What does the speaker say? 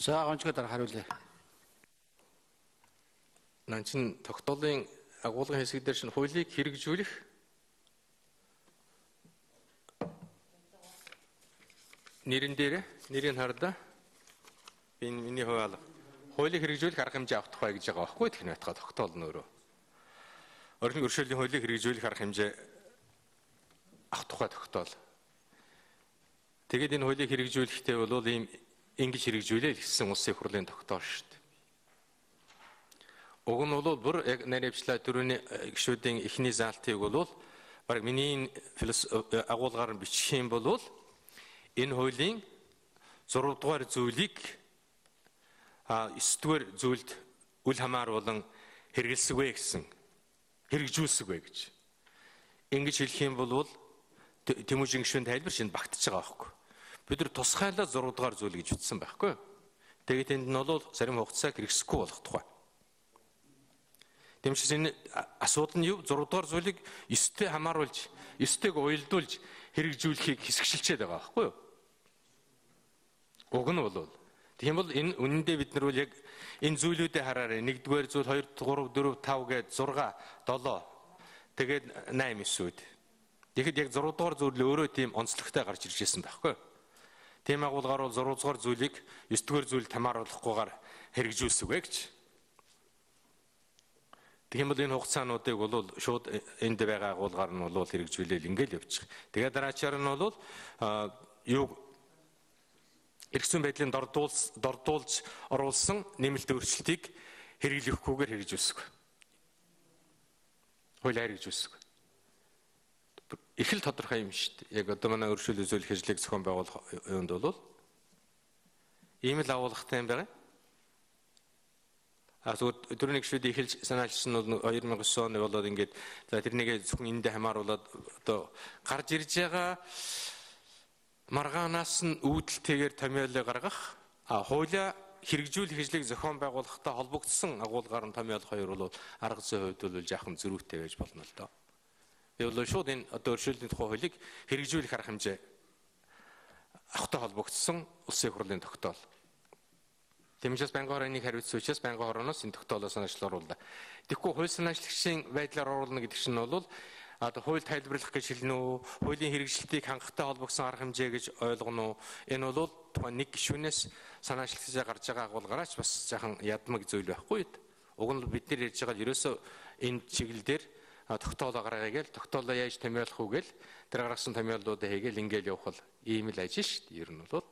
За гончго дараа хариулъя. Нанчин тогтоолын агуулгын хэсэг дээр шинэ хуулийг хэрэгжүүлэх нэрийг хардаа энэ миний хувьд хуулийг хэрэгжүүлэх арга хэмжээ авах тухай гэж байгаа байхгүй техник байтугай тогтоол нь өөрөө. Орчин өршөөлийн хуулийг хэрэгжүүлэх арга хэмжээ авах тухай тогтоол. Тэгээд энэ хуулийг хэрэгжүүлэхдээ бол ийм ингэж хэрэгжүүлээ гэсэн улсын хурлын тогтоол шүү дээ. Уг нь бол бүр яг наривчлаа төрөний гишүүдийн эхний заалтыг бол баг миний агуулгаар нь бичих юм бол энэ хуулийн 6 дугаар зүйлийг 9 дугаар зүйлд үл хамааруулан хэрэгэлсэвэ гэсэн хэрэгжүүлсэвэ гэж. Ингэж хэлэх юм бол Тэмүүжин гишүүн тайлбар шинэ багтаж байгаа байхгүй. Бид нар тусгайлаа 6 дугаар зүйл гэж ütсэн байхгүй. Тэгээд энд нь бол зарим хугацааг хэрэгсэхгүй болох тухай. Тэмчээс энэ асуудал нь юу? 6 дугаар зүйлийг 9-тэй хамааруулж, 9-тэйг уялдуулж хэрэгжүүлэхийг хэсэгшилчээд байгаа байхгүй юу? Уг нь бол тийм бол энэ үнэндээ бид нар яг энэ зүйлүүдээ хараарай. 1-р зүйл, 2, 3, 4, 5 гээд 6, 7 тэгээд 8 9-үүд. Тэгэхэд яг 6 дугаар зүйл өөрөө тийм онцлогтой гарч ирж байсан байхгүй юу? Тийм агуулгаар бол 6 дугаар зүйлийг 9 дугаар зүйл хамааруулахгүйгээр хэрэгжүүлсэвэ гэж. Тийм бол энэ хугацаануудыг бол шууд энд байгаа агуулгаар нь бол хэрэгжүүлэл ингээл явчих. Тэгээд дараачаар нь бол юу эргэсэн байдлын дордуулж оруулсан нэмэлт өөрчлөлтийг хэрэглэхгүйгээр хэрэгжүүлсэв. Хуулиар хэрэгжүүлсэв. Их л тодорхой юм шүү дээ. Яг одоо манай өршөөл үзүүлэх ажлыг зохион байгуулах юунд бол ийм л агуулгатай юм байна. Зүгээр төрөний гишүүдийн эхэлж санаачсан бол 2009 оны болоод ингээд за тэрнийг зөвхөн эндээ хамааруулаад одоо гарч ирж байгаа маргаанаас нь үүдэлтэйгээр томьёолыг гаргах хуулиа хэрэгжүүлэх ажлыг зохион байгуулахтай холбогдсон агуулгаар нь томьёолох хоёр бол арга зүйн хувьд бол жаахан зөрүүтэй байж болно л доо. Би бол шууд энэ одоо өршөөлийн тухай хуулийг хэрэгжүүлэх арга хэмжээ авахтай холбогдсон улсын хурлын тогтоол. Тэмчээс байнгын хорооны хариуцсан учраас байнгын хорооноос энэ тогтоолоо санаачлал оруулаа. Тэгэхгүй хууль санаачлагчийн байдлаар оруулна гэдэг чинь бол одоо хууль тайлбарлах гэж хэлнэ үү, хуулийн хэрэгжилтийг хангахтай холбогдсон арга хэмжээ гэж ойлгоно уу? Энэ бол тухайн нэг гишүүнээс санаачлагчаа гарч байгаа агуулгаараач бас жаахан ядмаг зүйл байхгүй юу? Уг нь бид нар ярьж байгаа ерөөсөө энэ чиглэл дээр тогтоолоо гаргая гээл тогтоолоо яаж томьёолох уу гээл тэр гаргасан томьёолуудаа хийгээл ингээл явах бол ийм л ажил шүү дээ. Ер нь бол